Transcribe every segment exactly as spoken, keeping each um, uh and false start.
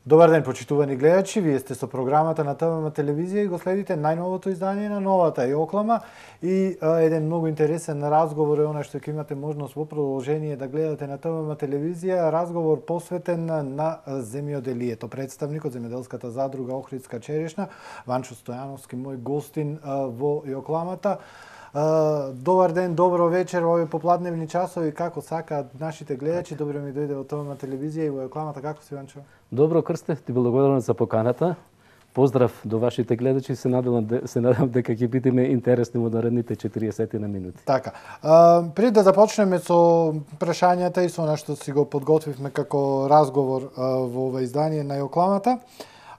Добар ден, почитувани гледачи, вие сте со програмата на ТВМ телевизија и го следите најновото издание на новата Јоклама и а, еден многу интересен разговор е оној што ќе имате можност во продолжение да гледате на ТВМ телевизија, разговор посветен на земјоделието. Представникот земјоделската задруга Охридска черешна, Ванчо Стојановски, мој гостин а, во Јокламата. Uh, добар ден, добро вечер во овие попладневни часови, како сакаат нашите гледачи. Добро ми дојде во ТВМ телевизија и во Јокламата. Како си, Ванчо? Добро, Крсте, ти благодарам за поканата. Поздрав до вашите гледачи, се надевам, се надевам дека ќе бидеме интересни во наредните четириесет на минути. Така. Uh, пред да започнеме со прашањата и со она што си го подготвивме како разговор uh, во ова издание на Јокламата,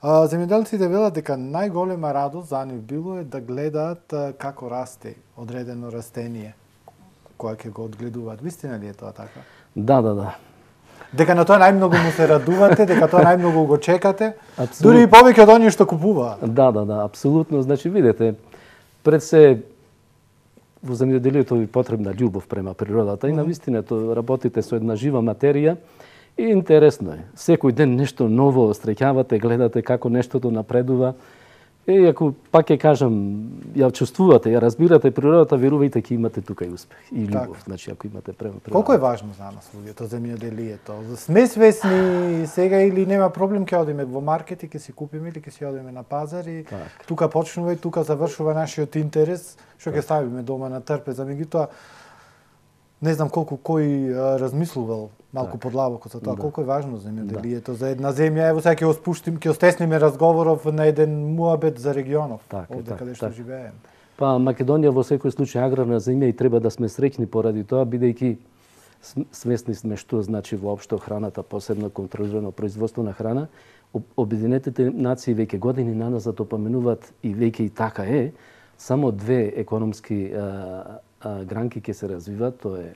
земјоделците велат дека најголема радост за нив било е да гледаат како расте одредено растение кога ќе го одгледуваат. Вистина ли е тоа така? Да, да, да. Дека на тоа најмногу му се радувате, дека тоа најмногу го чекате, Абсолютно. дури и повеќе од оние што купуваат. Да, да, да, апсолутно. Значи, видете, пред се во земјоделието ви потребна љубов према природата и навистина тоа работите со една жива материја. И интересно е. Секој ден нешто ново среќавате, гледате како нештото напредува. И ако пак ќе кажам, ја чувствувате, ја разбирате природата, верувајте ќе имате тука и успех и љубов. Так. Значи ако имате према природата. Колку е важно за нас луѓето земјоделието? Сме свесни сега или нема проблем, ќе одиме во маркет и ќе си купиме или ќе си одиме на пазар и так. Тука почнува и тука завршува нашиот интерес, што ќе ставиме дома на трпеза. Меѓутоа, не знам колку кој а, размислувал малку так. Подлабоко за тоа, да. Колку е важно земјоделието да. За една земја. Ево сега ќе го спуштим, ќе остесниме разговоров на еден муабет за регионов, так, овде так, каде што так. Живееме. Па Македонија во секој случај аграрна земја и треба да сме среќни поради тоа, бидејќи свесни сме што значи воопшто храната, посебно контролирано производство на храна. Обединетите нации веќе години наназад опоменуваат и веќе и така е, само две економски а, гранки ќе се развиваат, тоа е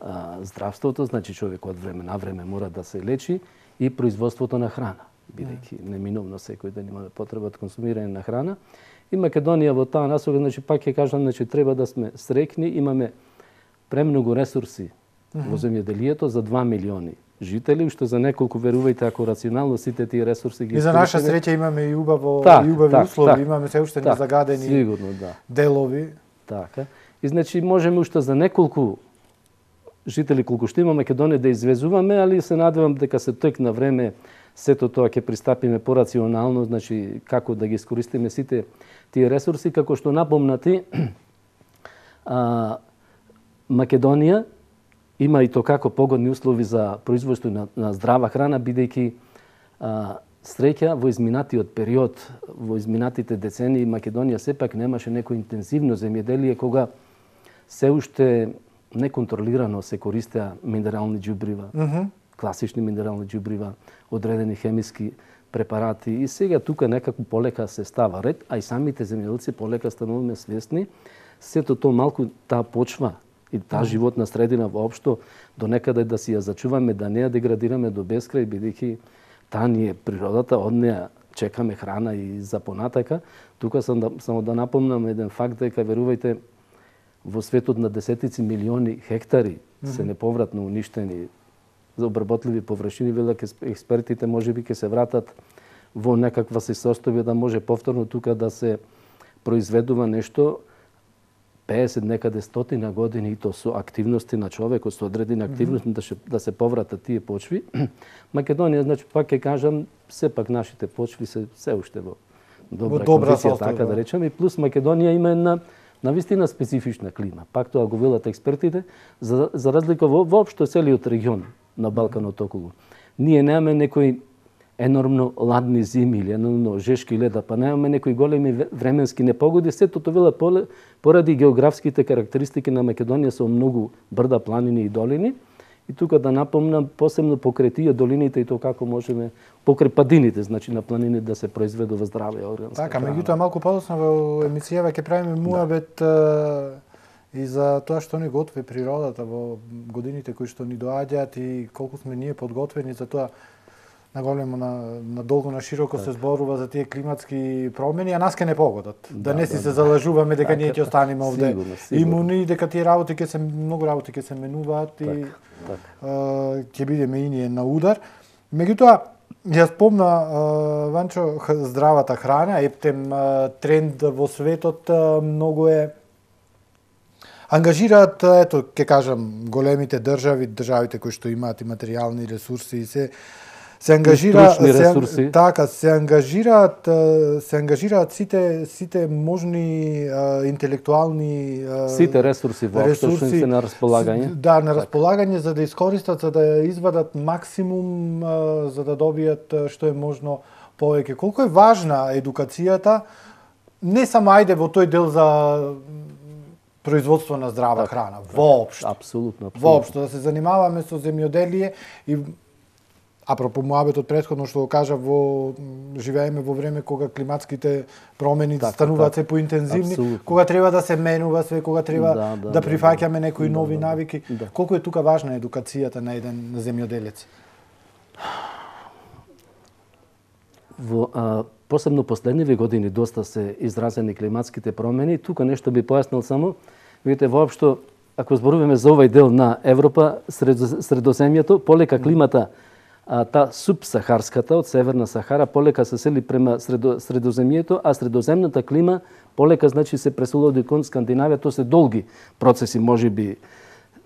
а, здравството, значи човек од време на време мора да се лечи, и производството на храна, бидејќи неминовно секој ден имаме потреба од консумирање на храна. И Македонија во таа насока, значи пак ќе кажам, значи треба да сме среќни, имаме премногу ресурси mm-hmm. во земјоделието за два милиони жители, што за неколку, верувајте, ако рационално сите тие ресурси ги и за наша среќа имаме и убаво так, и убави так, услови, так, имаме се уште так, незагадени сигурно, да. делови. Така. И значи можеме уште за неколку жители колку што има Македонија да извезуваме, али се надевам дека се тек на време сето тоа ќе пристапиме порационално, значи како да ги искористиме сите тие ресурси, како што напомнати а, Македонија има и тоа како погодни услови за производство на, на здрава храна, бидејќи а, среќа во изминатиот период, во изминатите децении Македонија сепак немаше некој интензивно земјоделие кога се уште неконтролирано се користеа минерални џубрива, mm-hmm. класични минерални џубрива, одредени хемиски препарати и сега тука некако полека се става ред, а и самите земјоделци полека стануваме свесни, сето тоа малку таа почва и таа mm-hmm. животна средина воопшто до некаде да си ја зачуваме, да не ја деградираме до бескрај, бидејќи таа ни е природата, од неа чекаме храна и за понатака. Тука сам да, само да напомнам еден факт дека верувајте во светот на десетици милиони хектари mm-hmm. се неповратно уништени за обработливи површини, велат експертите можеби ќе се вратат во некаква се состојба да може повторно тука да се произведува нешто пеесет некаде стотина години и то со активности на човекот, со одредени активности mm-hmm. да, ше, да се повратат тие почви. Македонија, значи пак ќе кажам, сепак нашите почви се се уште во добра, во добра кондиција, така да речем, и плюс Македонија има една навистина специфична клима. Пак тоа го велат експертите, за, за разлика во воопшто целиот регион на Балканот околу. Ние немаме некои енормно ладни зими или енормно жешки леда, па немаме некои големи временски непогоди, сето тоа велат поради географските карактеристики на Македонија со многу брда, планини и долини. И тука да напомнам посебно покрај тие долините и тоа како можеме покрај падините, значи на планини да се произведува здраве органска така, храна. Меѓутоа малку подоцна во емисијава ќе правиме муабет да. И за тоа што ни готви природата во годините кои што ни доаѓаат и колку сме ние подготвени за тоа. На големо, на, на долго, на широко так. Се зборува за тие климатски промени, а нас ке не погодат. Да, да не си да, се да. Залажуваме дека так, ние ќе останеме овде сигурно, сигурно. Имуни, дека тие работи ќе се многу работи ќе се менуваат так, и так. А, ќе бидеме и ние на удар. Меѓутоа, Ја спомна, Ванчо, здравата храна, ептем тренд во светот многу е ангажираат, ето, ќе кажам, големите држави, државите кои што имаат и материјални ресурси и се се ангажира се, така се ангажираат се ангажираат сите сите можни а, интелектуални а, сите ресурси воопшто што се на располагање. Да, на располагање за да искористат, за да извадат максимум, а, за да добијат што е можно повеќе. Колку е важна едукацијата, не само ајде во тој дел за производство на здрава так, храна, воопшто. Апсолутно, апсолутно. Воопшто да се занимаваме со земјоделие и апропо муабетот претходно што го кажа, во живееме во време кога климатските промени так, стануваат се поинтензивни, абсолютно. Кога треба да се менува све, кога треба да, да, да прифаќаме да, некои да, нови да, навики. Да. Колку е тука важна едукацијата на еден земјоделец? Во а, посебно последниви години доста се изразени климатските промени. Тука нешто би појаснил само. Видите, воопшто, ако зборуваме за овај дел на Европа, Средоземјето, полека климата, а, та субсахарската од Северна Сахара, полека се сели према средо, Средоземјето, а средоземната клима полека значи се преселува кон Скандинавија. Тоа се долги процеси, можеби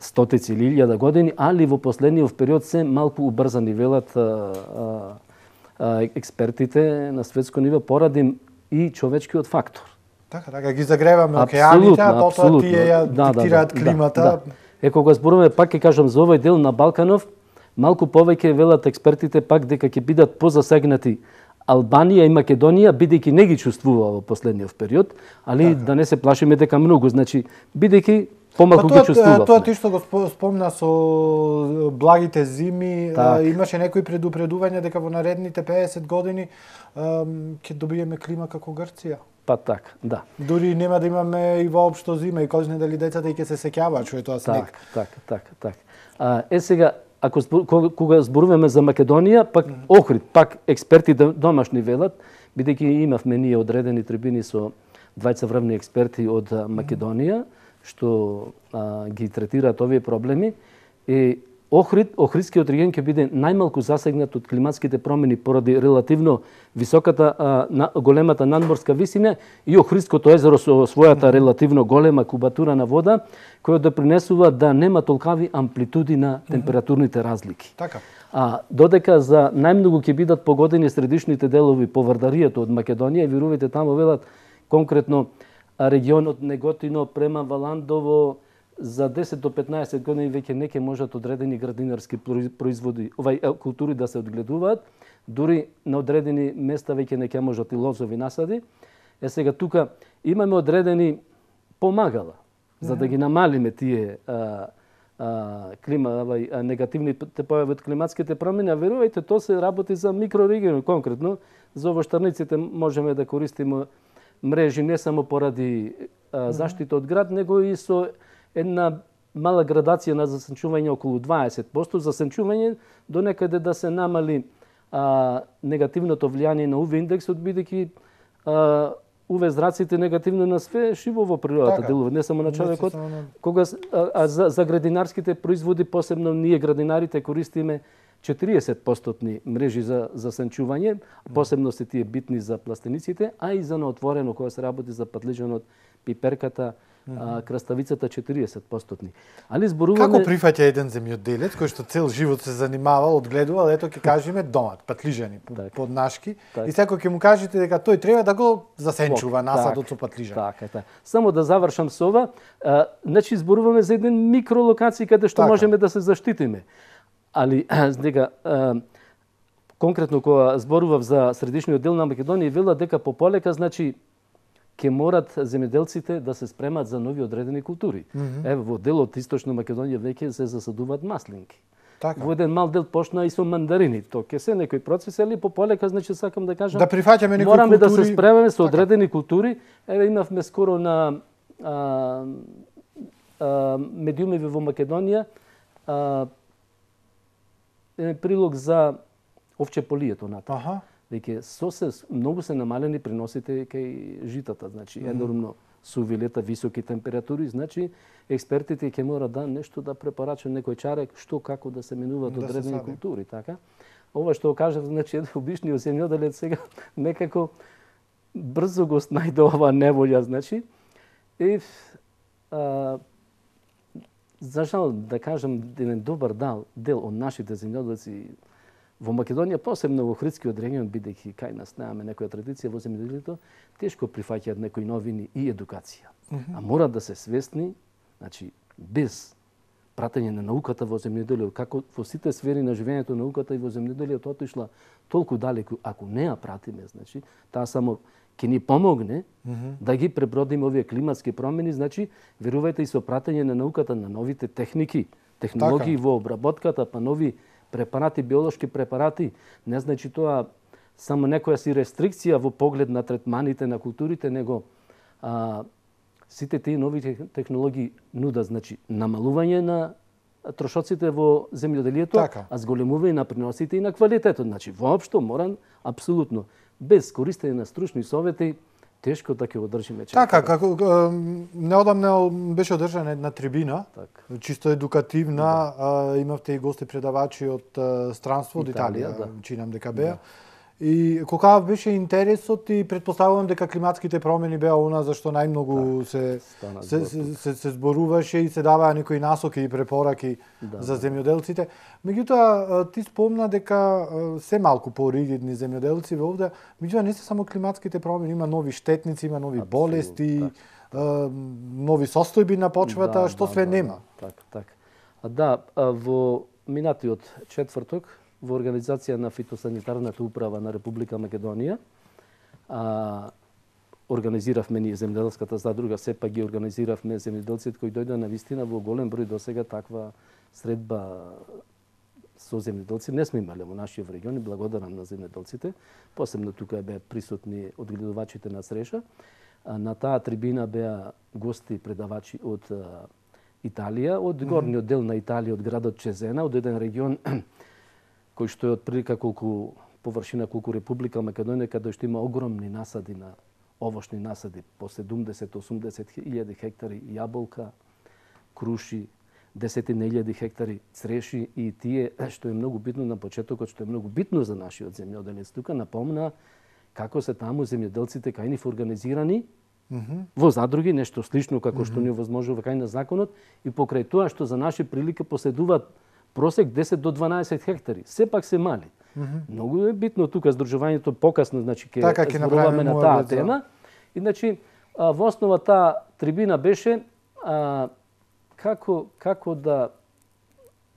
стотици или илјада години, али во последниот период се малку убрзани, велат а, а, експертите на светско ниво, поради и човечкиот фактор. Така, така, ги загреваме океаните, а потоа тие ја да, диктираат да, климата. Да, да. Е, кога зборуваме, пак ќе кажам, за овој дел на Балканов, малку повеќе велат експертите пак дека ќе бидат позасегнати Албанија и Македонија, бидејќи не ги чувствува во последниот период, али така. Да не се плашиме дека многу, значи, бидејќи помалку ги чувствува. Тоа ти што го спомна со благите зими, так. Имаше некои предупредувања дека во наредните песет години ќе добиеме клима како Грција. Па така, да. Дури нема да имаме и воопшто зима и кожне дали децата и ќе се сеќаваат што е тоа снег. Така, така, така. А, е сега, ако збор, кога зборуваме за Македонија, пак mm -hmm. Охрид, пак експерти домашни велат, бидејќи имавме ние одредени трибини со двајца врвни експерти од Македонија, што а, ги третираат овие проблеми. И Охрид, Охридскиот регион ќе биде најмалку засегнат од климатските промени поради релативно високата, а, на, големата надморска висина и Охридското езеро со својата релативно голема кубатура на вода, која допринесува да нема толкави амплитуди на температурните разлики. Така. А додека за најмногу ќе бидат погодени средишните делови по Вардаријата од Македонија, вирувате таму велат конкретно регионот Неготино према Валандово, за десет до петнаесет години веќе не ќе можат одредени градинарски производи, овај култури да се одгледуваат, дури на одредени места веќе не ќе можат и лозови насади. Е сега тука имаме одредени помагала за да ги намалиме тие а, а, клима, овај негативните појави од климатските промени, а верувајте, тоа се работи за микрорегион конкретно. За овоштарниците можеме да користиме мрежи не само поради а, заштита од град, него и со една мала градација на засенчување околу дваесет проценти, засенчување до некаде да се намали а, негативното влијание на ю ви индексот, бидејќи ю ви зраците негативно на све живо во природата така, делува, не само на човекот. Не само... Кога а, а за, за градинарските производи, посебно ние градинарите користиме четириесет проценти мрежи за засенчување, посебно се тие битни за пластениците, а и за наотворено кога се работи за патлижанот, пиперката, а, краставицата четириесет проценти. Али зборуваме... Како прифаќа еден земјоделец кој што цел живот се занимавал, одгледувал, ето ќе кажеме домат, патлижани, так, поднашки, так. И секој ќе му кажете дека тој треба да го засенчува насадот со патлижани. Така, така. Само да завршам со ова, а, значи зборуваме за еден микролокација каде што така. Можеме да се заштитиме. Али дека конкретно кога зборував за средишниот дел на Македонија, вела дека пополека, значи ќе морат земјоделците да се спремат за нови одредени култури. Mm -hmm. Ево, во делот Источна Македонија веќе се засадуваат маслинки. Така. Во еден мал дел почна и со мандарини. Тоа ќе се некои процеси, али пополека, значи сакам да кажам, да прифаќаме некои мораме култури... да се спремаме со одредени така. Култури. Еве имавме скоро на а, а, медиумеви во Македонија а, прилог за овчеполието натаму. Аха. Веќе со се многу се намалени приносите кај житата, значи енормно сувилета, високи температури, значи експертите ќе мора да нешто да препорачат некој чарек што како да се менуваат да одредени култури, така. ова што кажав, значи обичниот земјоделец сега некако брзо го снајде ова неволја, значи. И а, за жал да кажам еден добар дел, дел од нашите земјоделци во Македонија, посебно во Охридскиот регион, бидејќи кај нас немаме некоја традиција во земјоделието, тешко прифаќаат некои новини и едукација. Mm -hmm. А мора да се свесни, значи без пратење на науката во земјоделието, како во сите сфери на живењето науката и во земјоделието отишла толку далеку, ако не ја пратиме, значи таа само ќе ни помогне mm -hmm. да ги пребродиме овие климатски промени, значи верувајте и со пратење на науката на новите техники, технологии така во обработката, па нови препарати, биолошки препарати, не значи тоа само некоја си рестрикција во поглед на третманите на културите, него а, сите тие нови технологии нудат, значи, намалување на трошоците во земјоделието, така. А зголемување на приносите и на квалитетот. Значи, воопшто морам, апсолутно, без користење на стручни совети, тешко да ќе одржиме чека. Така, како неодамна беше одржана една трибина, так. Чисто едукативна, да. а, имавте и гости предавачи од а, странство, од Италија, да. Чинам дека беа. Да. И колкав беше интересот и предпоставувам дека климатските промени беа она за што најмногу се се, се, се се зборуваше и се даваа некои насоки и препораки да, за земјоделците. Меѓутоа ти спомна дека се малку поригидни земјоделци во овде, меѓутоа не се само климатските промени, има нови штетници, има нови Абсолют, болести, так. нови состојби на почвата, да, што да, све да, нема. Така, така. А да, во минатиот четврток во организација на фитосанитарната управа на Република Македонија, а, организиравме ние земјоделската задруга, сепак ги организиравме земјоделците кои дојдоа на вистина во голем број досега таква средба со земјоделци не сме имале во нашиот регион и благодарам на земјоделците. Посебно тука беа присутни одгледувачите на среша. А, на таа трибина беа гости предавачи од а, Италија, од горниот дел на Италија, од градот Чезена, од еден регион кој што е од прилика колку површина колку Република Македонија, каде што има огромни насади на овошни насади, по седумдесет до осумдесет илјади хектари јаболка, круши, десетина илјади хектари цреши и тие што е многу битно на почетокот, што е многу битно за нашиот земјоделец. Тука напомна како се таму земјоделците кај нив организирани mm -hmm. во задруги, нешто слично како mm -hmm. што ни овозможува кај на законот и покрај тоа што за наши прилики поседуваат просек десет до дванаесет хектари, сепак се мали. Mm -hmm. Многу е битно тука здружувањето покасно, значи ќе така, зборуваме на таа тема. И значи во основа таа трибина беше а, како како да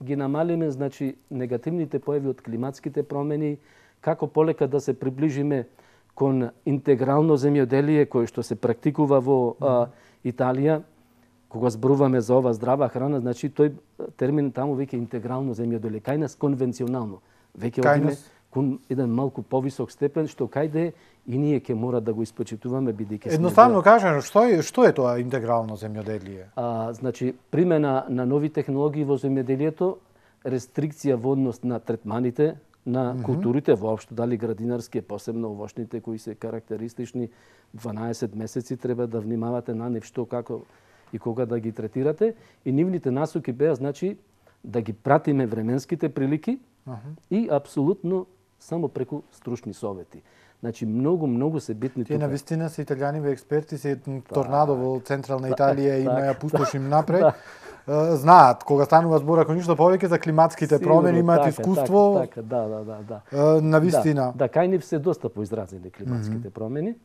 ги намалиме, значи негативните појави од климатските промени, како полека да се приближиме кон интегрално земјоделие кое што се практикува во а, Италија. Кога зборуваме за ова здрава храна, значи тој термин таму веќе интегрално земјоделие, кај нас конвенционално. Веќе одиме кон еден малку повисок степен, што кајде и ние ќе мора да го испочитуваме бидејќи едноставно кажано, што е што е тоа интегрално земјоделие? А, значи примена на нови технологии во земјоделието, рестрикција во однос на третманите на mm -hmm. културите, воопшто дали градинарски, посебно овошните кои се карактеристични, дванаесет месеци треба да внимавате на нив што како и кога да ги третирате, и нивните насоки беа, значи, да ги пратиме временските прилики uh -huh. и апсолутно само преку стручни совети. Значи, многу, многу се битни Тие тука. на вистина се италијани експерти, се торнадо во централна Италија и има ја пустошим напред. Знаат, кога станува збор, ако ништо повеќе за климатските промени, имаат искуство. Така, така, да, да, да, да. На вистина. Да, да, кај нив се доста поизразени климатските mm -hmm. промени.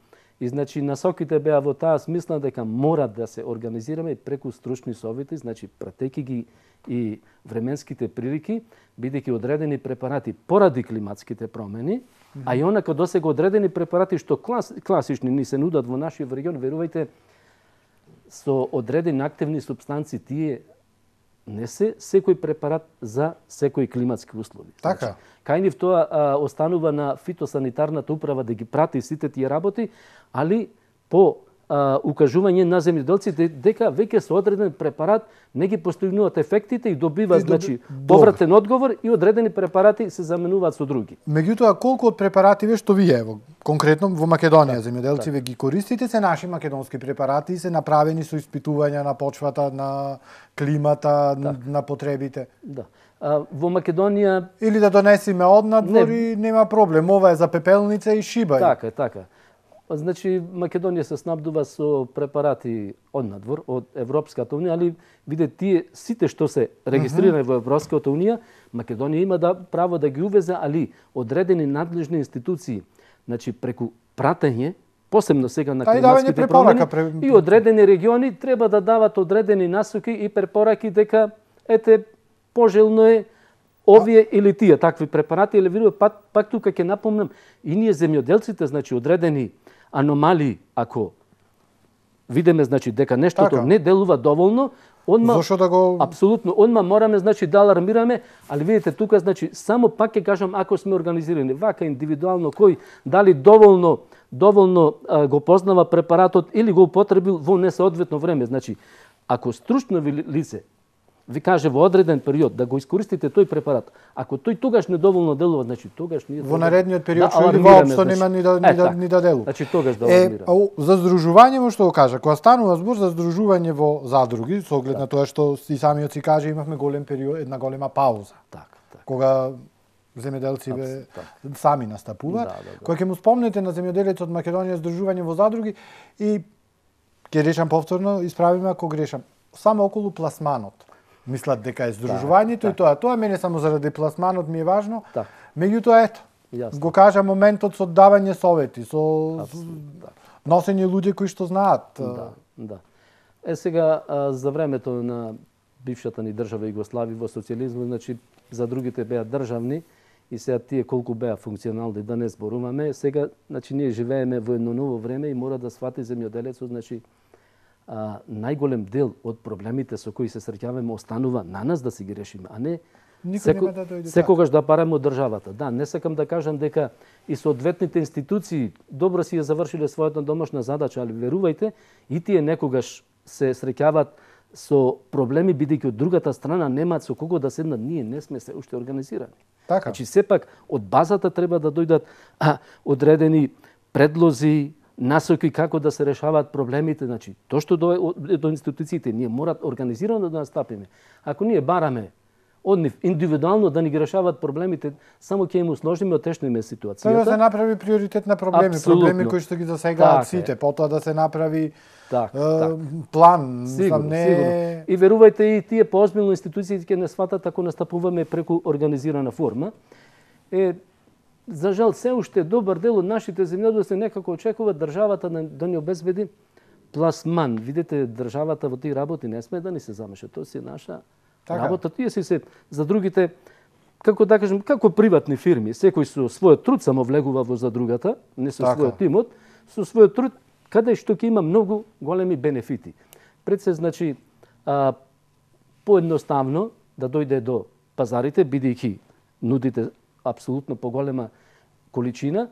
И значи насоките беа во таа смисла дека мора да се организираме преку стручни совети, значи пратејќи ги и временските прилики, бидејќи одредени препарати поради климатските промени, mm -hmm. а и онака досега одредени препарати што клас, класични ни се нудат во нашиот регион, верувајте, со одредени активни супстанци тие не се секој препарат за секои климатски услови. Така. Значи, кај нив тоа а, останува на фитосанитарната управа да ги прати сите тие работи, али по а, укажување на земјоделците дека веќе со одреден препарат не ги постигнуваат ефектите и добиваат, значи, повратен одговор и одредени препарати се заменуваат со други. Меѓутоа, колку од препаративе што вие, во, конкретно во Македонија, земјоделци ве ги користите, се наши македонски препарати и се направени со испитувања на почвата, на климата, на, на потребите? Да. А, во Македонија или да донесиме однадвор и нема проблем, ова е за пепелница и шибај. Така, така. Значи Македонија се снабдува со препарати однадвор од Европската унија, али виде тие сите што се регистрирани mm -hmm. во Европската унија, Македонија има да право да ги увезе, али одредени надлежни институции, значи преку пратење, посебно сега на климатските промени, пре... и одредени региони треба да дават одредени насоки и препораки дека ете пожелно е овие а... или тие такви препарати, или видува пак, пак тука ќе напомнам и ние земјоделците, значи одредени аномалии, ако видиме значи дека нештото така не делува доволно, одма зошто да го апсолутно одма мораме значи да алармираме, али видите тука значи само пак ќе кажам ако сме организирани вака индивидуално кој дали доволно доволно а, го познава препаратот или го употребил во несоодветно време, значи ако стручно лице ви каже во одреден период да го искористите тој препарат, ако тој тогаш недоволно делува, значи тогаш ние во наредниот период да, или воопшто значи, нема ни да ни, е, да, ни да делува. Значи тогаш да алармираме. Е, за здружување што го кажа, кога станува збор за здружување во задруги, со оглед да. на тоа што и самиот си каже имавме голем период, една голема пауза. Така, така. Кога земјоделци бе так. сами настапуваат, да, да, да. кога ќе му спомнете на земјоделец од Македонија здружување во задруги и ќе речам повторно, исправиме ако грешам, само околу пласманот. Мислат дека е здружувањето да, и тоа. Тоа мене само заради пласманот ми е важно. Да. Меѓутоа ето, Јасно. го кажа моментот со давање совети, со да. носење луѓе кои што знаат. Да, да. Е сега за времето на бившата ни држава Југославија во социјализмот, значи за другите беа државни и сега тие колку беа функционални да не зборуваме, сега значи ние живееме во едно ново време и мора да свати земјоделецот, значи а, најголем дел од проблемите со кои се среќаваме останува на нас да си ги решиме, а не секо, да секогаш да параме од државата. Да, не сакам да кажам дека и соодветните институции добро си ја завршиле својата домашна задача, али верувајте, и тие некогаш се среќаваат со проблеми бидејќи од другата страна немаат со кого да седнат, ние не сме се уште организирани. Така. Значи сепак од базата треба да дојдат а, одредени предлози, насоки како да се решаваат проблемите, значи тоа што до, до институциите ние морат организирано да настапиме. Ако ние бараме од нив индивидуално да ни ги решаваат проблемите, само ќе им усложниме, отешниме ситуацијата. Тоа да се направи приоритет на проблеми, Абсолютно. проблеми кои што ги засегаат так сите, потоа да се направи так, е, так. план, сигурно, не сигурно. И верувајте и тие поозбилно институциите ќе не сватат ако настапуваме преку организирана форма. Е, за жал се уште добар дел од нашите земјоделци некако очекуваат државата да ни обезбеди пласман. Видите, државата во тие работи не сме да ни се замеша, тоа си наша така работа. Тие си се за другите, како да кажем, како приватни фирми, секој со својот труд само влегува во задругата, не со така својот имот, со својот труд каде што ќе има многу големи бенефити. Пред се значи а, поедноставно да дојде до пазарите, бидејќи нудите апсолутно поголема количина,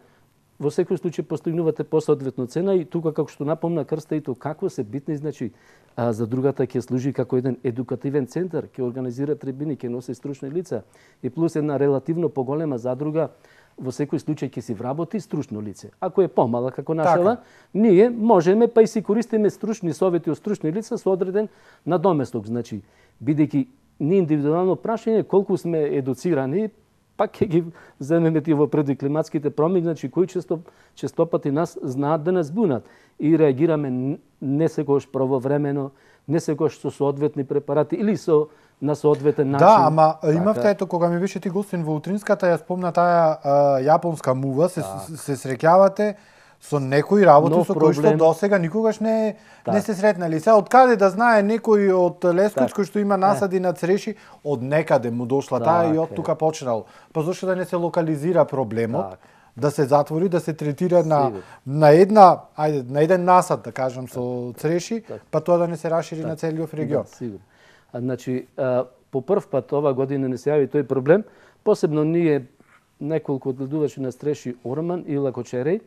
во секој случај постигнувате посоодветно цена и тука како што напомна Крста и тоа какво се битни, значи а, за другата ќе служи како еден едукативен центар, ќе организира трибини, ќе носи стручни лица и плюс една релативно поголема задруга во секој случај ќе си вработи стручно лице. Ако е помала како нашава, така ние можеме па и си користиме стручни совети од стручни лица со одреден надоместок, значи бидејќи ни индивидуално прашање колку сме едуцирани, пак ќе ги земеме тие во преди климатските промени, значи кои често честопати нас знаат да нас бунат и реагираме не секогаш правовремено, не секогаш со соодветни препарати или со на соодветен начин. Да, ама така имавте ето кога ми беше ти гостин во утринската, ја спомна таа а, јапонска мува, се, да. се среќавате со некои работи но со кои што досега никогаш не так не се сретнали. Сега од каде да знае некој од Лесковиц кој што има насади на цреши, од некаде му дошла так таа и од тука почнал. Па зошто да не се локализира проблемот, так да се затвори, да се третира на на една, ајде, на еден насад, да кажам, со цреши, так па тоа да не се расшири так на целиот регион. Да, сигурно. А, значи, а, по прв пат ова година не се јави тој проблем, посебно ние неколку одгледувачи на стреши Орман и Лакочерей,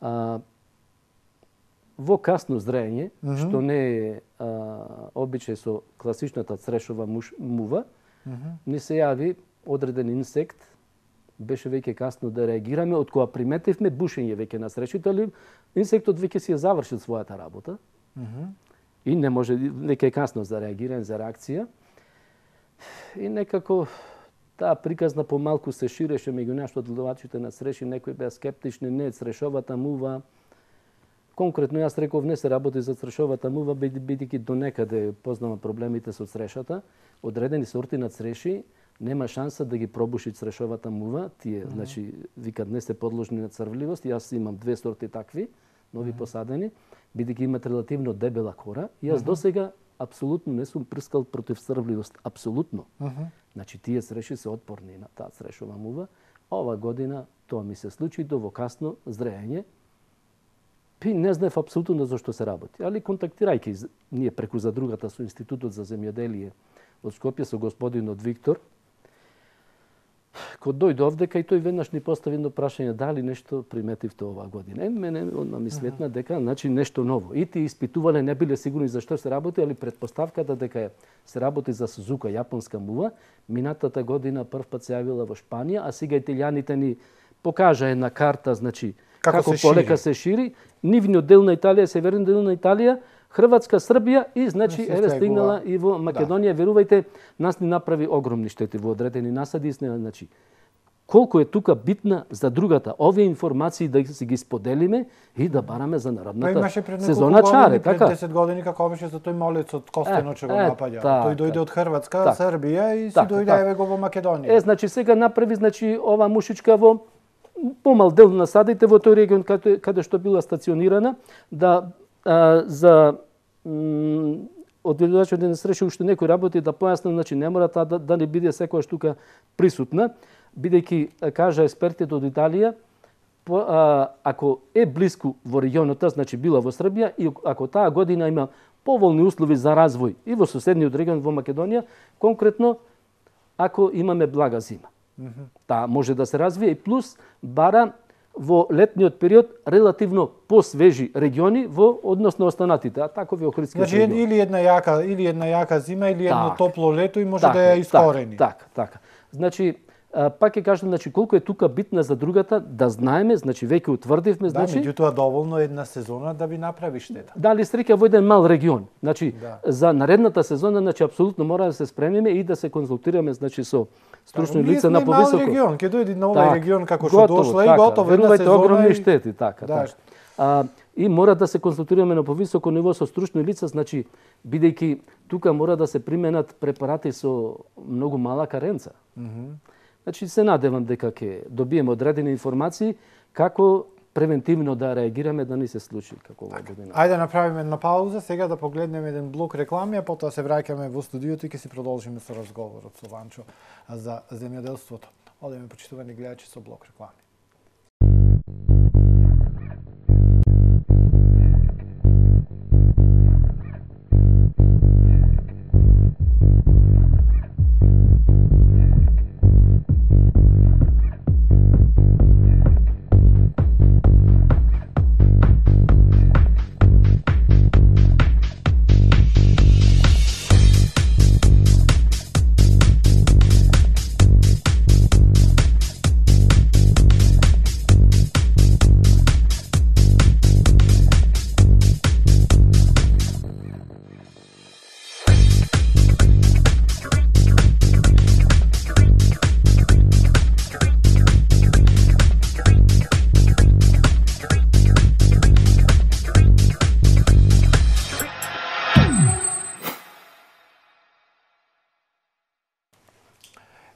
а, во касно зрење, mm -hmm. што не е а, обичај со класичната црешова муш, мува, mm -hmm. ни се јави одреден инсект, беше веќе касно да реагираме, од кога приметивме бушење веќе на стрешите, али инсектот веќе си ја завршил својата работа. Mm -hmm. И не може, веќе е касно за реагирање, за реакција. И некако таа приказна помалку се ширеше меѓу нашите одделувачите на среши, некои беа скептични, не срешовата мува. Конкретно јас реков не се работи за црешовата мува, бидејќи до некаде познавам проблемите со црешата. Одредени сорти на цреши нема шанса да ги пробуши црешовата мува. Тие, mm -hmm. значи, викат не се подложни на црвливост. Јас имам две сорти такви, нови mm -hmm. посадени, бидејќи имат релативно дебела кора. И јас mm -hmm. досега апсолутно не сум прскал против црвливост, апсолутно. Mm -hmm. Значи тие цреши се отпорни на таа црешова мува. Ова година тоа ми се случи до во касно зреење. Пи не знаев апсолутно за што се работи, али контактирајќи ние преку задругата со Институтот за земјоделие од Скопје со господинот Виктор, кога дојде овдека и тој веднаш ни постави едно прашање дали нешто приметивте оваа година. Е, мене одма ми сметна дека значи нешто ново. И ти испитувале не биле сигурни за што се работи, али претпоставката дека се работи за Сузука јапонска мува, минатата година прв пат се јавила во Шпанија, а сега италијаните ни покажа една карта, значи како, како се полека шири. се шири, нивниот дел на Италија, северен дел на Италија, Хрватска, Србија и значи еве стигнала и во Македонија. Да. Верувајте, нас ни направи огромни штети во одредени насади, значи колку е тука битна за другата овие информации да си ги споделиме и да бараме за народната сезона чаре, така? Пред десет години како беше за тој молецот Костено че го напаѓа. Тој дојде од Хрватска, так, Србија и си дојде еве го во Македонија. Е, значи сега направи значи ова мушичка во помал дел на насадите во тој регион каде, каде што била стационирана, да а, за одделувачот на среши уште некои работи да појаснам, значи не мора таа да, да не биде секојаш тука присутна, бидејќи кажа експертите од Италија, по, а, ако е блиску во регионот, значи била во Србија и ако таа година има поволни услови за развој и во соседниот регион во Македонија, конкретно ако имаме блага зима. Mm -hmm. Таа може да се развие и плюс бара во летниот период релативно посвежи региони во однос на останатите, а такови охридски значи, региони. Или една јака, или една јака зима, или едно так, топло лето и може так, да ја искорени. Така, така, така. Значи, пак ќе кажам, значи колку е тука битна за другата, да знаеме, значи веќе утврдивме, значи. Да, меѓутоа доволно една сезона да ви направи штета. Дали среќа во еден мал регион. Значи да. За наредната сезона, значи апсолутно мора да се спремиме и да се консултираме, значи со стручни да, лица на повисоко. Мал регион, ќе дојде на овој регион како што дошла и готово една сезона. Огромни штети, така, да. така. А, и мора да се консултираме на повисоко ниво со стручни лица, значи бидејќи тука мора да се применат препарати со многу мала каренца. Mm -hmm. Значи се надевам дека ќе добиеме одредени информации како превентивно да реагираме да не се случи како ова година. Ајде направиме една пауза, сега да погледнеме еден блок реклами, а потоа се враќаме во студиото и ќе си продолжиме со разговорот со Ванчо за земјоделството. Одеме почитувани гледачи со блок реклами.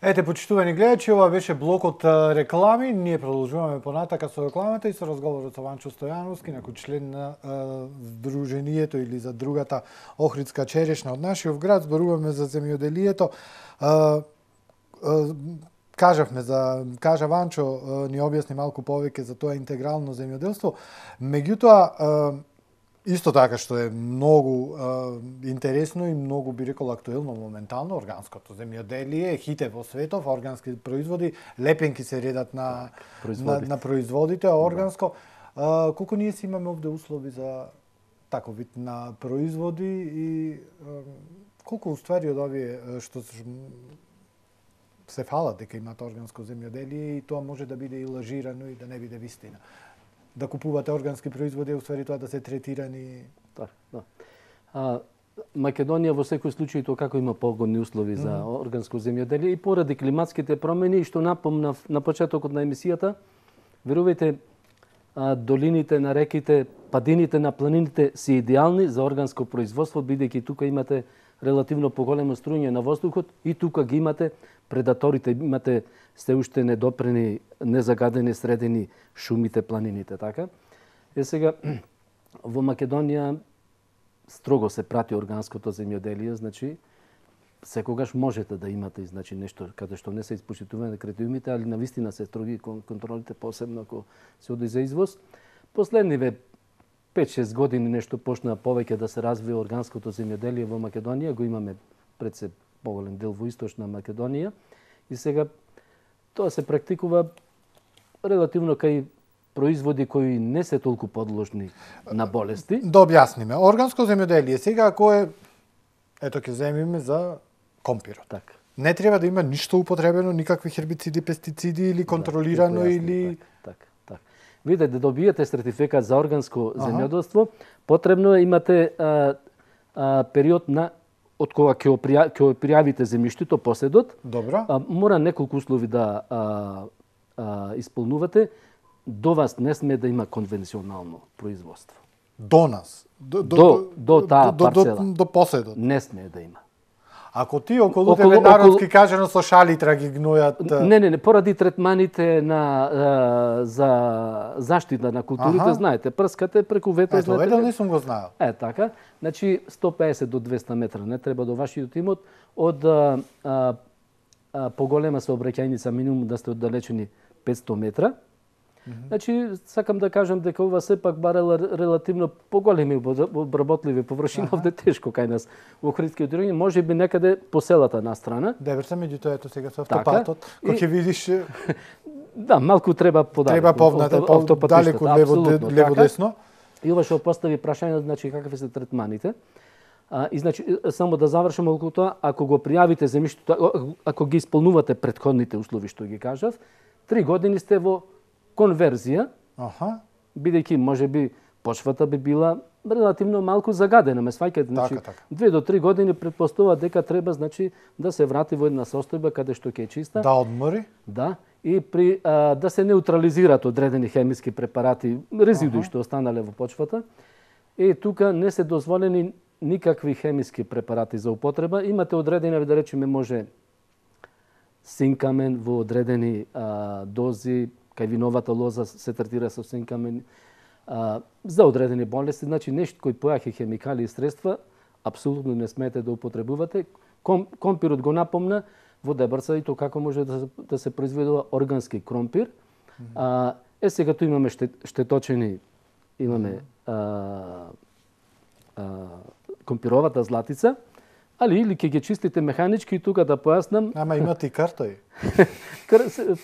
Ете, почитувани гледачи, ова беше блокот реклами. Ние продолжуваме понатака со рекламата и со разговорот со Ванчо Стојановски, некој член на Сдруженијето или за другата Охридска черешна од нашиот град. Зборуваме за земјоделието. Кажавме за, кажа Ванчо, ни објасни малку повеќе за тоа интегрално земјоделство. Меѓутоа, исто така што е многу е, интересно и многу би рекол актуелно моментално, органското земјоделие, хите во светов, органски производи, лепенки се редат на производите, на, на производите органско. Е, колку ние си имаме овде услови за таков вид на производи и е, колку уствари од овие што се фалат дека имат органско земјоделие и тоа може да биде и лажирано и да не биде вистина. Да купувате органски производи, уствари тоа да се третирани. Да, да. А, Македонија во секој случај тоа како има погодни услови за mm -hmm. органско земјоделие и поради климатските промени, што напомнав на почетокот на емисијата, верувајте, долините на реките, падините на планините се идеални за органско производство, бидејќи тука имате релативно поголемо струјање на воздухот и тука ги имате предаторите, имате сте уште недопрени, незагадени средини шумите, планините, така. Е сега во Македонија строго се прати органското земјоделие, значи секогаш можете да имате значи нешто каде што не се испочитувани критериумите, али навистина се строги контролите, посебно ако се оди за извоз. Последниве пет-шест години нешто почна повеќе да се развива органското земјоделие во Македонија, го имаме пред се поголем дел во источна Македонија и сега тоа се практикува релативно кај производи кои не се толку подложни на болести. Да објасниме. Органско земјоделие сега ако е, ето ќе земиме за компирот. Така. Не треба да има ништо употребено, никакви хербициди, пестициди или контролирано да, или така, така, така. Видите да добиете сертификат за органско земјоделство, потребно е имате а, а, период на од кога ќе ќе пријавите земјиштето, поседот. Добро. А, мора неколку услови да а, а, исполнувате. До вас не сме да има конвенционално производство. До нас? До, до, до таа парцела. До, до поседот? Не сме да има. Ако ти околу тебе народски кажано со шалитра ги гнојат... Не, не, не, поради третманите на, а, за заштита на културите, аха, знаете, прскате преку ветер. Ето, знаете, едно не сум го знаел. Е, така. Значи, сто песет до двеста метра не треба до вашиот имот. Од а, а, а, поголема сообраќајница, минимум да сте оддалечени петсто метра. Mm-hmm. Значи, сакам да кажам дека ова сепак барела релативно поголеми обработливи површини, овде тешко кај нас во Охридскиот регион, може би некаде по селата настрана. Деберца, меѓутоа ето сега со автопатот, кој ќе видиш... Да, малку треба подалеку. Треба повнате, далеку лево, лево десно. И ова што постави прашање, значи какви се третманите. А, и значи само да завршам околу тоа, ако го пријавите земјиштето, ако ги исполнувате претходните услови што ги кажав, три години сте во конверзија, аха, бидејќи можеби почвата би била релативно малку загадена, ме сваќате, значи така, така. две до три години претпоставува дека треба значи да се врати во една состојба каде што ќе е чиста. Да одмори. Да, и при а, да се неутрализираат одредени хемиски препарати, резидуи ага, што останале во почвата. И тука не се дозволени никакви хемиски препарати за употреба. Имате одредени, да речеме, може синкамен во одредени а, дози, кај виновата лоза се третира со синкамен а, за одредени болести, значи нешто кои појаки хемикали и средства апсолутно не смеете да употребувате. Ком, компирот го напомна во Дебрца и тоа како може да, да се произведува органски кромпир. Mm-hmm. А, е сега tu имаме штет, штеточени, имаме а, а, компировата златица, али или ќе ги чистите механички и тука да појаснам. Ама имате и картој.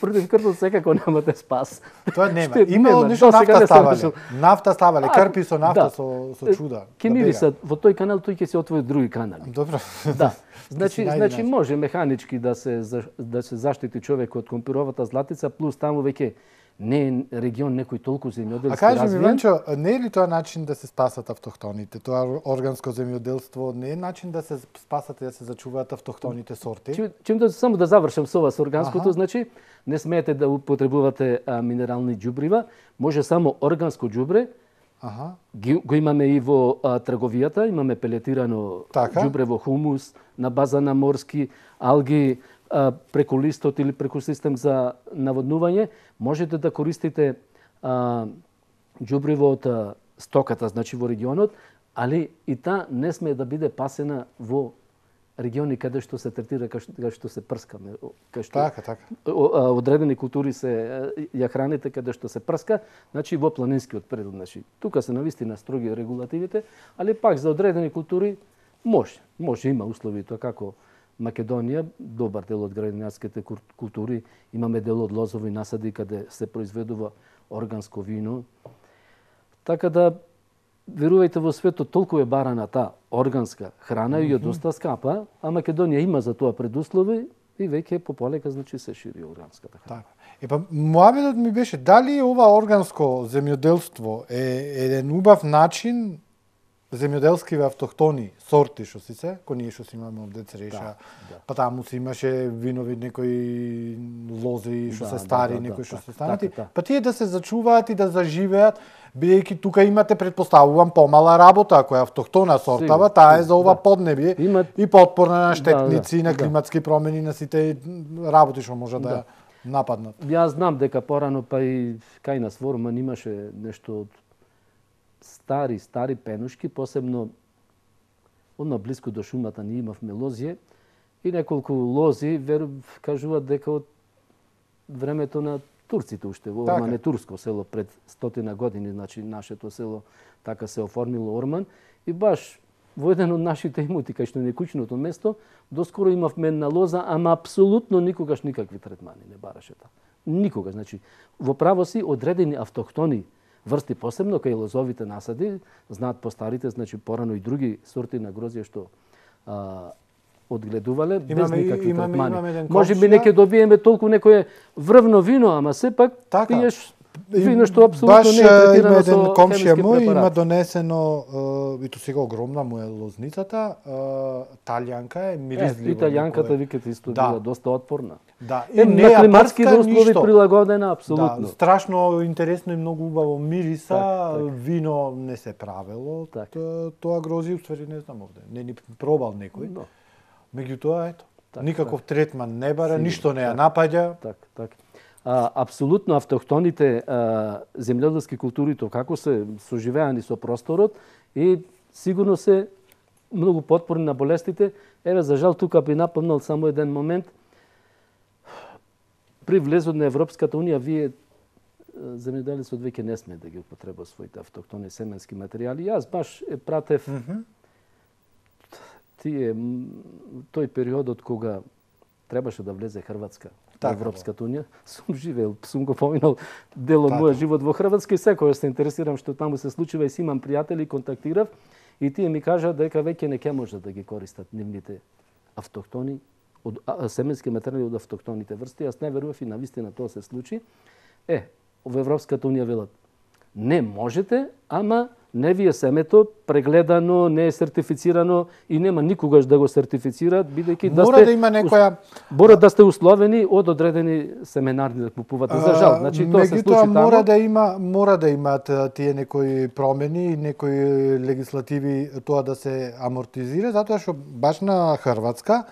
Против картот секако немате спас. Тоа нема. Има нешто нафта ставале. Нафта ставале, крпи со нафта, да, со, со чуда. Ке мирисат во тој канал, тој ќе се отвори други канали. Добро. Да. Значи, значи може механички да се да се заштити човек од компировата златица, плюс таму веќе не е регион некој толку земјоделски развиен. А кажи ми, Венчо, не е ли тоа начин да се спасат автохтоните? Тоа органско земјоделство не е начин да се спасат и да се зачуваат автохтоните сорти? Че, чем да само да завршам со ова со органското, аха, значи не смеете да употребувате а, минерални џубрива, може само органско џубре. Аха. Ги, го имаме и во а, трговијата, имаме пелетирано така џубре во хумус на база на морски алги, а, преку листот или преку систем за наводнување. Можете да користите а, џубриво од а, стоката, значи во регионот, али и та не сме да биде пасена во региони каде што се третира, каде што се прскаме, каде што така, така. одредени култури се ја храните каде што се прска, значи во планинскиот предел, значи тука се навистина строги регулативите, али пак за одредени култури може, може има услови тоа како Македонија, добар дел од градинарските култури, имаме дел од лозови насади каде се произведува органско вино. Така да верувајте, во светот толку е барана таа органска храна и е доста скапа, а Македонија има за тоа предуслови и веќе пополека значи се шири органската храна. Така. И па муабетот ми беше дали ова органско земјоделство е еден убав начин земјоделски автохтони сорти што си се, кој ние што си имаме овде цреша, Да, да. па таму си имаше винови некои лози што Да, се да, стари, да, некои да, што така, се станати, така, така. па тие да се зачуваат и да заживеат, бидејќи тука имате, предпоставувам, помала работа, ако е автохтона сортава, Сигурно, таа е за ова да. поднебје Има- и потпорна на Да, штетници, да, на да. климатски промени, на сите работи што може да Да. ја нападнат. Јас знам дека порано па и кај нас во Орман имаше нешто од стари, стари пенушки, посебно одно близко до шумата ние имавме лозје и неколку лози веру кажуваат дека од времето на турците уште во Орман Така. е турско село пред стотина години, значи нашето село така се оформило Орман и баш во еден од нашите имоти кај што не е кучното место, доскоро имавме една лоза, ама апсолутно никогаш никакви третмани не бараше таа. Никогаш, значи во право си одредени автохтони врсти, посебно кај лозовите насади, знаат постарите, значи порано и други сорти на грозје што а, одгледувале без Имаме- никакви имаме- третмани. имаме еден Може би комшија- неќе добиеме толку некое врвно вино, ама сепак Така. пиеш вино што апсолутно Баш не е е, третирано има еден со комшија хемиски мој, има препарати. донесено, е, и то сега огромна му е лозницата, е, талјанка е, Е, миризливо. италијанката некое. викате исто Да. била доста отпорна. Да, Е, не на ја климатските прска услови ништо. прилагодена апсолутно. Да, страшно интересно и многу убаво мириса, Так, так. вино не се правело, Так. т- тоа грози, уствари не знам овде, не ни пробал некој. Но, Меѓутоа, ето, Так, никаков третман не бара, Сигурно, ништо не ја так. напаѓа. так, так. А, апсолутно автохтоните а, земјоделски култури то како се соживеани со просторот и сигурно се многу потпорни на болестите. Еве за жал тука би напомнал само еден момент. При влезот на Европската унија вие земјоделецот веќе не сме да ги употреба своите автохтони семенски материјали. Јас баш е пратев тие м, тој периодот кога требаше да влезе Хрватска во Така, Европската унија, сум живеел, сум го поминал дел од Така. мојот живот во Хрватска и секој се интересирам што таму се случува и си имам пријатели, контактирав и тие ми кажа дека веќе не ќе може да ги користат нивните автохтони од а, семенски материјали од автохтоните врсти. Јас не верував и навистина тоа се случи. Е, во Европската унија велат не можете, ама не ви е семето прегледано, не е сертифицирано и нема никогаш да го сертифицираат, бидејќи да Мора сте да има некоја Борат да сте условени од одредени семенарни да купувате. За жал, значи тоа се случи Меѓутоа, таму. мора да има мора да имаат а, тие некои промени, некои легислативи тоа да се амортизира, затоа што баш на Хрватска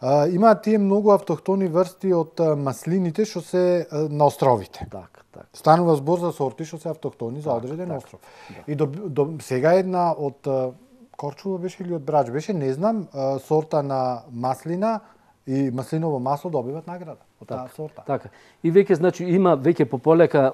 а, имаат тие многу автохтони врсти од а, маслините што се а, на островите. Така, така. Станува збор за сорти што се автохтони за Так, одреден така, остров. И до, до, сега една од а, Корчува беше или од Брач беше, не знам, а, сорта на маслина и маслиново масло добиват награда од таа сорта. Така. И веќе значи има веќе пополека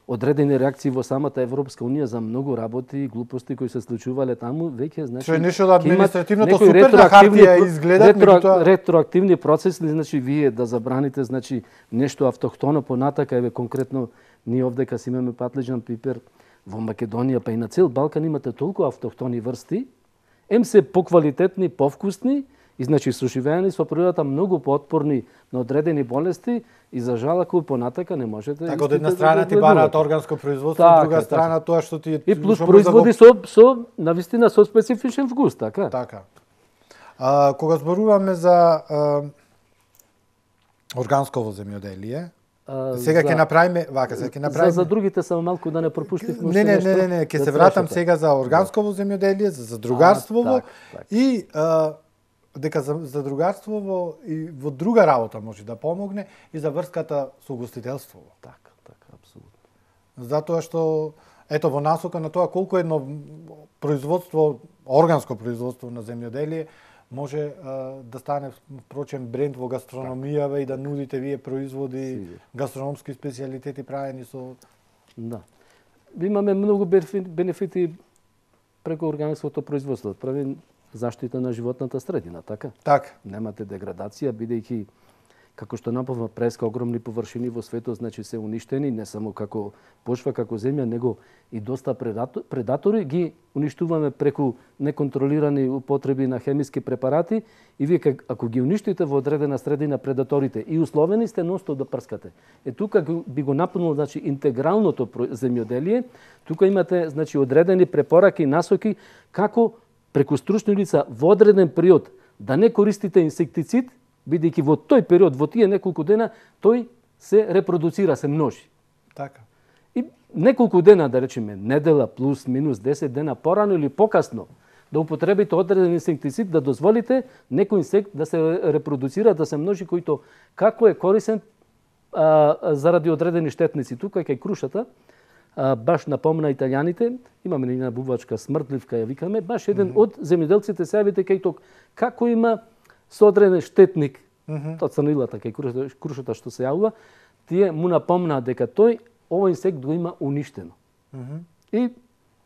одредени реакции во самата Европска унија за многу работи и глупости кои се случувале таму, веќе значи Што е нешто да ќе имат административното некои супер на ретроактивни хартија про- изгледат, ретро, меѓутоа- ретроактивни процеси, значи вие да забраните значи нешто автохтоно понатака, еве конкретно ние овдека си имаме патлиџан пипер во Македонија, па и на цел Балкан имате толку автохтони врсти, ем се поквалитетни, повкусни и значи соживеани со природата многу поотпорни на одредени болести и за жал ако понатака не можете. Така од истите една да страна ги ти бараат одгледувате. органско производство, Така, од друга така. страна тоа што ти И плюс што може да го- производи со со навистина со специфичен вкус, така? Така. А, кога зборуваме за а, органсково земјоделие, А, сега за- ќе направиме, вака, сега ќе направиме. За, за другите само малку да не пропуштивме Не, не, не, не, не, ќе се вратам сега за органсково земјоделие, за задругарствово А, так, так. и а, дека за задругарствово и во друга работа може да помогне и за врската со гостителството. Така, така, апсолутно. Затоа што ето во насока на тоа колку едно производство, органско производство на земјоделие може а, да стане впрочем бренд во гастрономијава и да нудите вие производи, Сигурно. гастрономски специјалитети правени со Да. Имаме многу бенефи- бенефити преку органското производство. Прави заштита на животната средина, така? така. Немате деградација, бидејќи како што напомна преска, огромни површини во светот, значи се уништени, не само како почва, како земја, него и доста предатори ги уништуваме преку неконтролирани употреби на хемиски препарати и вие ако ги уништите во одредена средина предаторите и условени сте носто да прскате. Е тука би го напомнил, значи интегралното земјоделие, тука имате значи одредени препораки, насоки како преку стручни лица во одреден период да не користите инсектицид, бидејќи во тој период, во тие неколку дена, тој се репродуцира, се множи. Така. И неколку дена, да речеме, недела плюс минус десет дена порано или покасно, да употребите одреден инсектицид, да дозволите некој инсект да се репродуцира, да се множи, којто како е корисен а, заради одредени штетници. Тука кај крушата, а, баш напомна италијаните, имаме една бувачка смртливка, ја викаме, баш еден mm -hmm. од земјоделците се јавите кај ток, како има со одреден штетник, mm -hmm. тоа црнилата кај крушата, крушата што се јавува, тие му напомнаа дека тој овој инсект го има уништено. Mm -hmm. И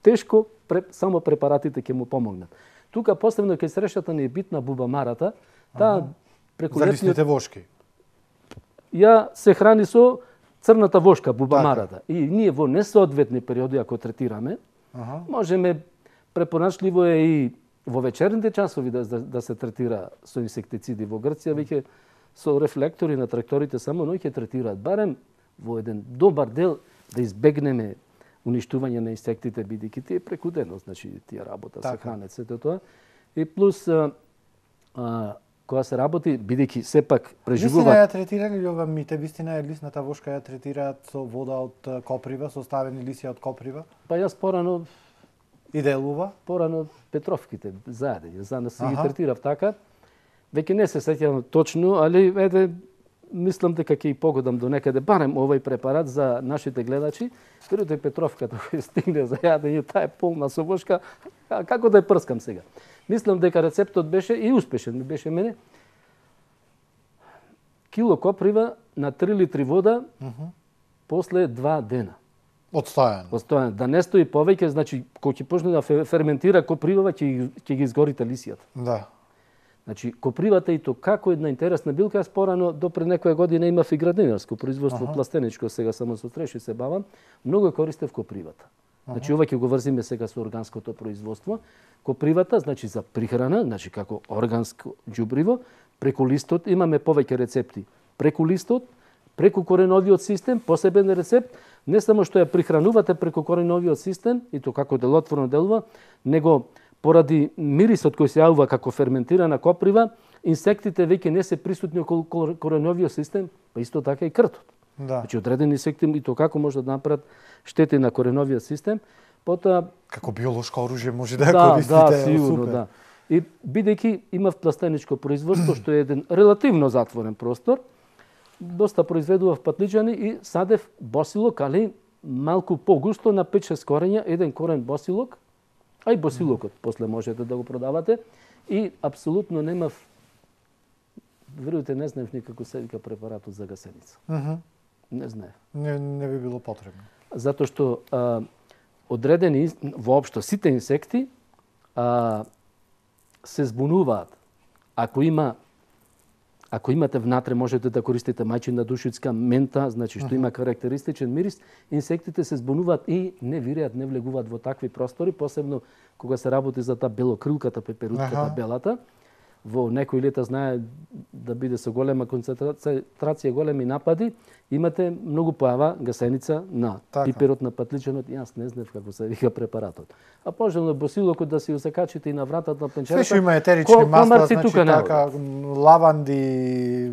тешко само препаратите ќе му помогнат. Тука посебно кај срещата ни е битна бубамарата, таа преку за лисните вошки. Ја се храни со црната вошка, бубамарата. Така. И ние во несоодветни периоди ако третираме, ага. можеме препорачливо е и во вечерните часови да, да, да се третира со инсектициди. Во Грција веќе со рефлектори на тракторите само ноќе третираат. Барем во еден добар дел да избегнеме уништување на инсектите, бидејќи тие преку денот, значи тие работа, така. Се хранат, сето тоа. И плюс, а, а, кога се работи, бидејќи сепак преживуваат... Вистина ја третирали ли ова мите? Вистина е лисната вошка ја третираат со вода од коприва, со ставени лисија од коприва? Па јас порано... И делува? Порано Петровките заедење, за да се ги третирав така. Веќе не се сеќавам точно, али еде, мислам дека ќе и погодам до некаде барем овој препарат за нашите гледачи. Првите Петровката кој стигне за јадење, таа е полна со вошка, како да ја прскам сега. Мислам дека рецептот беше и успешен, ми беше мене. Кило коприва на три литри вода uh -huh. после два дена. Одстојано. Одстојано. Да не стои повеќе, значи кога ќе почне да ферментира копривава, ќе ќе ги изгорите лисијата. Да. Значи копривата и то како една интересна билка, јас порано до пред некоја година имав и градинарско производство, ага. пластеничко, сега само со треши се бавам, многу ја користев копривата. Ага. Значи ова ќе го врзиме сега со органското производство. Копривата, значи за прихрана, значи како органско џубриво, преку листот имаме повеќе рецепти. Преку листот, преку кореновиот систем, посебен рецепт, не само што ја прихранувате преку кореновиот систем и то како делотворно делува, него поради мирисот кој се јавува како ферментирана коприва, инсектите веќе не се присутни околу кореновиот систем, па исто така и кртот. Да. Значи одредени инсекти и то како може да направат штети на кореновиот систем, потоа како биолошко оружје може да ја да, користите. Да, сигурно, да. И бидејќи имав пластеничко производство што е еден релативно затворен простор, доста произведував патличани и садев босилок, али малку погусто на пет-шест корења, еден корен босилок, а и босилокот после можете да го продавате. И апсолутно немав, верујте, не знаев никако се вика препаратот за гасеница. Uh -huh. Не знаев. Не, не би било потребно. Затоа што а, одредени, воопшто сите инсекти а, се збунуваат. Ако има Ако имате внатре, можете да користите мајчина душицка мента, значи што има карактеристичен мирис, инсектите се збунуваат и не виреат, не влегуваат во такви простори, посебно кога се работи за таа белокрилката пеперутката, белата. Во некои лета знае да биде со голема концентрација, големи напади, имате многу појава гасеница на така. Пиперот, на патличанот, јас не знаев како се вика препаратот. А пожелно босилокот да си усакачите и на вратата на пенчерата. Све што има етерични масла, значи така, лаванди,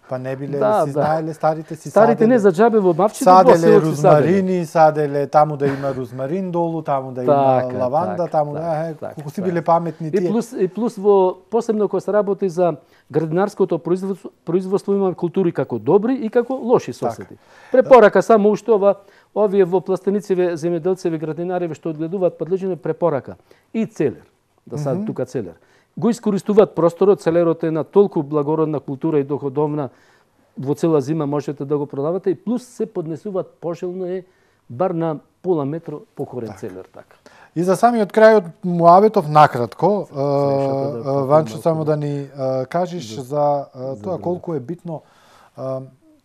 па не биле, да, си да. знаеле, старите си Старите саделе, не за џабе во мавчите, саделе розмарини, саделе таму да има розмарин долу, таму да има така, лаванда, така, таму така, да, е, така, колку си така. биле паметни тие. И плюс, и плюс во, посебно кога се работи за градинарското производство, производство има култури како добри и како лоши соседи. Така. Препорака само уште ова, овие во пластенициве, земјоделцеви, градинари што одгледуваат подлежени препорака. И целер, да сад mm -hmm. тука целер. Го искористуваат просторот, целерот е на толку благородна култура и доходовна, во цела зима можете да го продавате и плюс се поднесуваат пожелно е бар на пола метро покорен так. Целер така. И за самиот крај од муабетов накратко, да Ванчо, само да ни кажеш за, за тоа колку е битно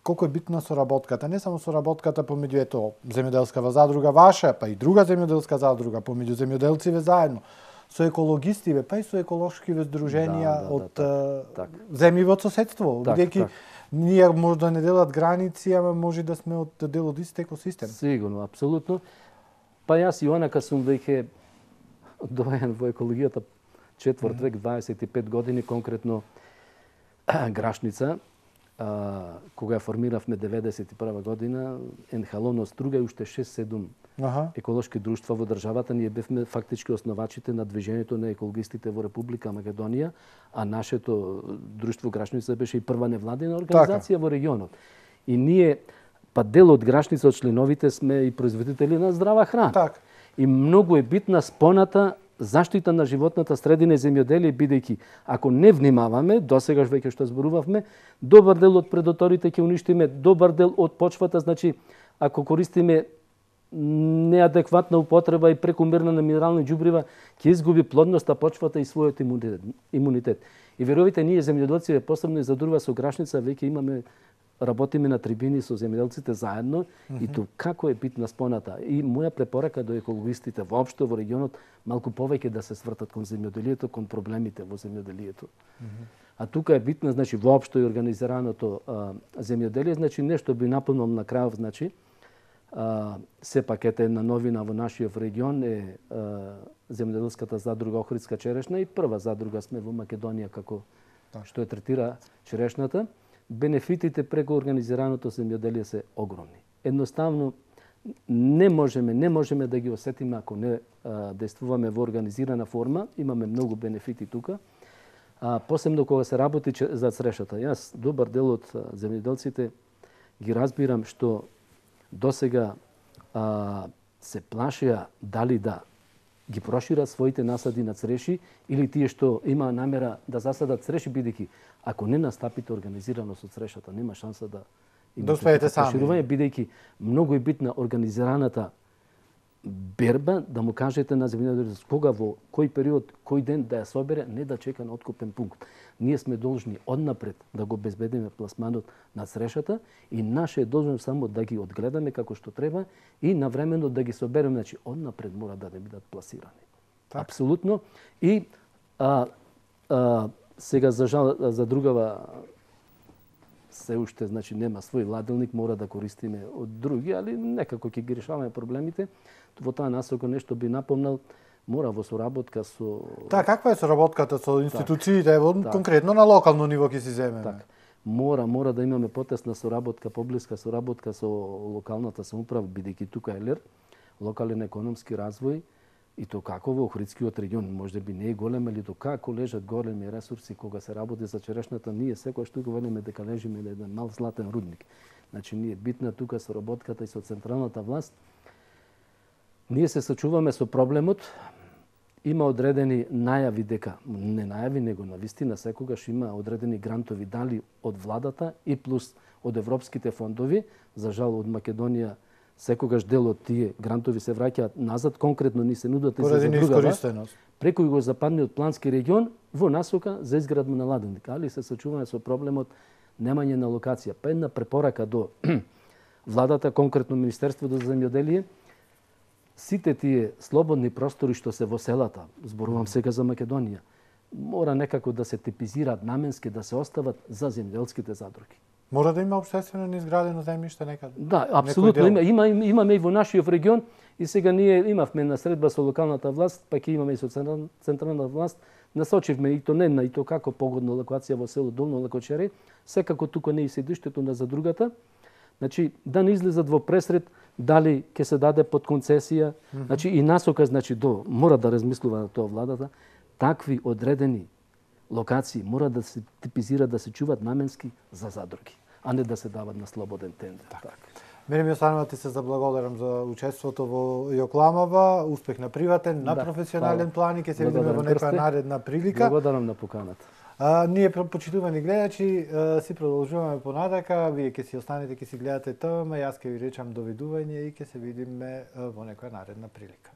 колку е битна соработката, не само соработката помеѓу ето земјоделскава задружа ваша, па и друга земјоделска задружа, помеѓу земјоделциве заедно, со екологистиве, па и со еколошкиве здруженија да, да, од да, земји во соседство, так, бидејќи так. ние може да не делат граници, ама може да сме од дел од ист екосистем. Сигурно, апсолутно. Па јас и онака сум веќе доен во екологијата четврт век, дваесет и пет години, конкретно Грашница, а, кога ја формиравме деветдесет и прва година, Енхалоно Струга и уште шест-седум Аха. еколошки друштва во државата, ние бевме фактички основачите на движењето на екологистите во Република Македонија, а нашето друштво Грашница беше и прва невладина организација така во регионот. И ние, па дел од Грашница, од членовите сме и производители на здрава храна. Так. И многу е битна споната заштита на животната средина и земјоделие, бидејќи ако не внимаваме, досегаш веќе што зборувавме, добар дел од предоторите ќе уништиме, добар дел од почвата, значи ако користиме неадекватна употреба и прекумерна на минерални џубрива, ќе изгуби плодноста почвата и својот имунитет. И верувате, ние земјоделци, посебно и за Друва со Грашница, веќе имаме работиме на трибини со земјоделците заедно, mm-hmm. и тоа како е битна споната. И моја препорака до екологистите воопшто во регионот малку повеќе да се свртат кон земјоделието, кон проблемите во земјоделието. Mm-hmm. А тука е битна, значи воопшто и организираното а, земјоделие, значи нешто би напомнал на крајов, значи а, сепак ете една новина во нашиот регион е а, земјоделската задружа Охридска черешна и прва задружа сме во Македонија како так. Што ја третира черешната. Бенефитите преку организираното земјоделие се огромни. Едноставно не можеме, не можеме да ги осетиме ако не а, действуваме во организирана форма. Имаме многу бенефити тука. А, посебно кога се работи за црешата. Јас добар дел од земјоделците ги разбирам што досега а, се плашија дали да ги прошират своите насади на цреши или тие што има намера да засадат цреши, бидејќи ако не настапите организирано со црешата, нема шанса да имате проширување, бидејќи многу е битна организираната берба, да му кажете на земјоделецот кога во кој период, кој ден да ја собере, не да чека на откупен пункт. Ние сме должни однапред да го безбедиме пласманот на црешата и наше е должно само да ги одгледаме како што треба и навремено да ги собереме, значи однапред мора да не бидат пласирани. Так. Апсолутно. И а, а, сега за жал, за другава се уште, значи нема свој ладилник, мора да користиме од други, али некако ќе ги решаваме проблемите. Во таа насока нешто би напомнал, мора во соработка со... Так, каква е соработката со институциите, так, так. конкретно на локално ниво ќе си земеме? Так. Мора, мора да имаме потесна соработка, поблиска соработка со локалната самоуправа, бидејќи тука е ЛЕР, локален економски развој, и то како во Охридскиот регион, може би не е голем, али до како лежат големи ресурси кога се работи за черешната, ние секој што го велиме дека лежиме на еден мал златен рудник. Значи, ние битна тука соработката и со централната власт. Ние се сочуваме со проблемот, има одредени најави дека, не најави, него на вистина секогаш има одредени грантови дали од владата и плюс од европските фондови, за жал од Македонија секогаш дел од тие грантови се враќаат назад, конкретно ни се нудат и за задружава, преку југозападниот плански регион во насока за изградба на ладилник, али се сочуваме со проблемот немање на локација. Па една препорака до владата, конкретно Министерството за земјоделие, сите тие слободни простори што се во селата, зборувам сега за Македонија, мора некако да се типизираат наменски, да се остават за земјоделските задруги. Мора да има општествено изградено земјиште некаде. Да, апсолутно има, има имаме и во нашиот регион и сега ние имавме на средба со локалната власт, па ќе имаме и со централната власт, насочивме и то не на и то како погодна локација во село Долно Лакочере, секако тука не и седиштето на задругата. Значи да не излезат во пресред дали ќе се даде под концесија, mm -hmm. значи и насока, значи до мора да размислува на тоа владата, такви одредени локации мора да се типизираат, да се чуваат наменски за задруги, а не да се дават на слободен тендер. Так. Так. Мене ми останува ти се заблагодарам за учеството во Јокламава, успех на приватен, на да, професионален план и ќе се видиме во некоја наредна прилика. Благодарам на поканата. А, ние, почитувани гледачи, си продолжуваме понатака, вие ќе си останете, ќе си гледате ТВМ, јас ќе ви речам довидување и ќе се видиме во некоја наредна прилика.